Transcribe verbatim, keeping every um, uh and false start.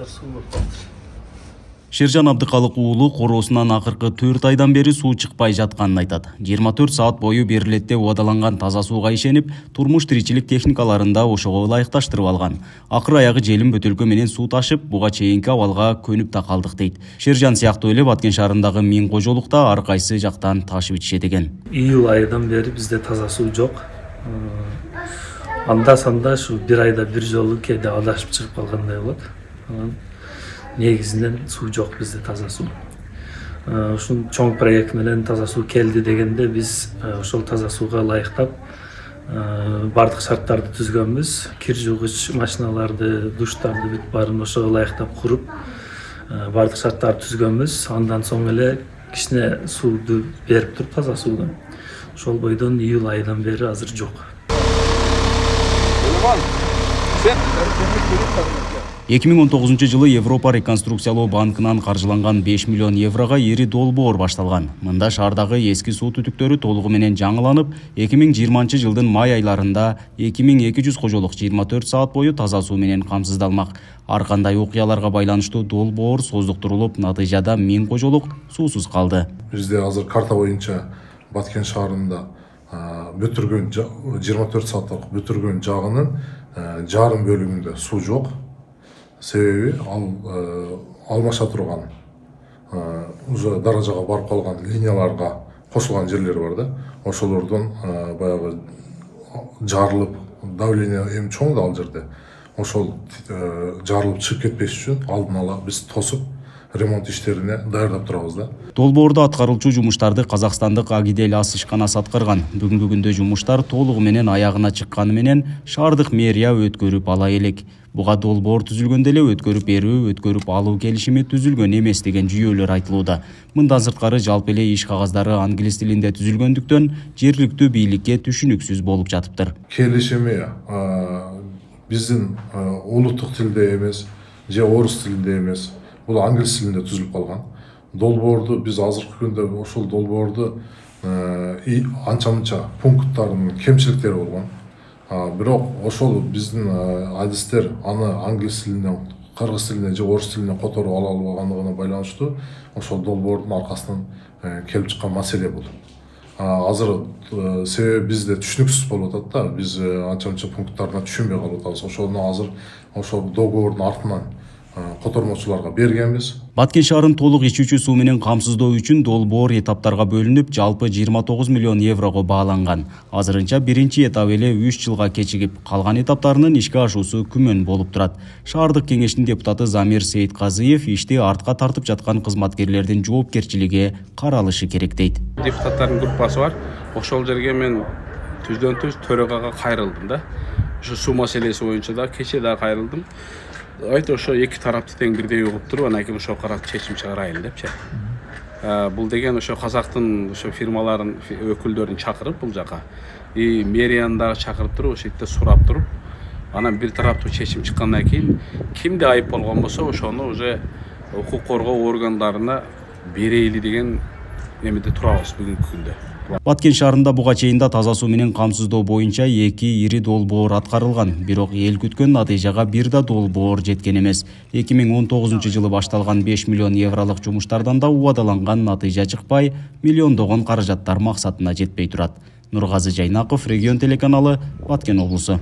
жактар суу болуп калды. Шержан Абдыкалык уулу короосунан акыркы төрт айдан бери суу чыкпай жатканын айтат. жыйырма төрт саат бою берилетте убадаланган таза сууга ишенип, турмуш тиричилик техникаларында ошого ылайыкташтырып алган. Акыр аягы желим бөтөлкө менен суу ташып, буга чейинки абалга көнүп да калдык дейт. Шержан сыяктуу эле Баткен шаарындагы миң кожолукта ар кайсы жактан ташып ичишет экен. Июль айынан бери бизде таза суу жок. Анда санда ушу бир айда бир жолу кээде адашып чыгып калгандай болот. Негизинен суу жок бизде, таза суу. Ушун чоң проект менен таза суу келди дегенде биз ошол таза сууга ылайыктап бардык шарттарды түзгөнбүз. Кир жуугуч машиналарды, душтарды бүт баарын ошого ылайыктап куруп, бардык шарттарды түзгөнбүз. Андан соң эле кичине сууду берип туруп, таза сууду. Ошол бойдон июль айынан бери азыр жок. эки миң он тогузунчу жылы Европа реконструкциялоо банкынан каржыланган беш миллион еврого ири долбоор башталган. Мында шаардагы эски суу түтүктөрү толугу менен жаңыланып, эки миң жыйырманчы жылдын май айларында эки миң эки жүз кожолук жыйырма төрт саат бою таза суу менен камсыздалмак. Ар кандай окуяларга байланыштуу долбоор создуктурулуп, натыйжада миң кожолук суусуз калды. Бизде азыр карта боюнча Баткен шаарында бүтүргөн жыйырма төрт сааттык бүтүргөн жагынын жарым бөлүгүндө суу жок. Себеби ал алмаша турган уже даражага барып калган линияларга кошулган жерлер бар да. Ошолордон баягы жарылып, давление эми чоң да ал жерде. Ошол жарылып чыгып кетпеш үчүн алдын ала биз тосуп ремонт иштерине даярдап турабыз да. Долбоордо аткаруучу жумуштарды казакстандык Агидель ас ишканасы аткарган. Бүгүнкү күндө жумуштар толугу менен аягына чыкканы менен шаардык мэрия өткөрүп ала элек. Буга долбоор түзүлгөндө эле өткөрүп берүү, өткөрүп алуу келишими түзүлгөн эмес деген жүйөлөр айтылууда. Мындан сырткары жалпы эле иш кагаздары англис тилинде түзүлгөндүктөн жергиликтүү бийликке түшүнүксүз болуп жатыптыр. Келишими биздин улуттук тилде эмес, же орус тилинде эмес. Бул англис тилинде түзүлүп калган. Долбоорду биз азыркы күндө ошол долбоорду анча-мынча пункттарынын кемчиликтери болгон. Бирок ошол биздин адистер аны англис тилинен, кыргыз тилинен же орус тилинен которуп ала албагандыгына байланыштуу ошол долбоордун аркасынан келип чыккан маселе бул. Азыр себеби бизде түшүнүксүз болуп атат да, биз анча-мынча пункттарына түшүнбөй калып атабыз. Ошону азыр ошол договордун артынан котормочуларга бергенбиз. Баткен шаарын толук ичүүчү суу менен камсыздоо үчүн долбоор этаптарга бөлүнүп, жалпы жыйырма тогуз миллион еврого бааланган. Азырынча биринчи этап эле үч жылга кечигип, калган этаптарынын ишке ашуусу күмөн болуп турат. Шаардык кеңештин депутаты Замир Сейитказыев ишти артка тартып жаткан кызматкерлердин жоопкерчилиги каралышы керек дейт. Депутаттардын группасы бар. Ошол жерге мен түздөн түз төрөгага кайрылдым да. Ушу суу маселеси боюнча да кечээ да кайрылдым. Айты ошо эки тарапты тең бирдей угуп туруп, анан кийин ошого карап чечим чыгарайын депчи. Бул деген ошо казактын ошо фирмаларын өкүлдөрүн чакырып бул жака, и мэрияны дагы чакырып туруп, ошол жерде сурап туруп, анан бир тараптуу чечим чыккандан кийин кимде айып болгон болсо, ошону уже укук коргоо органдарына берейли деген эмеде турабыз бүгүнкү күндө. Баткен шаарында буга чейин да таза суу менен камсыздоо боюнча эки ири долбоор аткарылган, бирок эл күткөн натыйжага бир да долбоор жеткен эмес. эки миң он тогузунчу жылы башталган беш миллион евролук жумуштардан да убадаланган натыйжа чыкпай, миллиондогон каражаттар максатына жетпей турат. Нургазы Жайнаков, Регион телеканалы, Баткен облусу.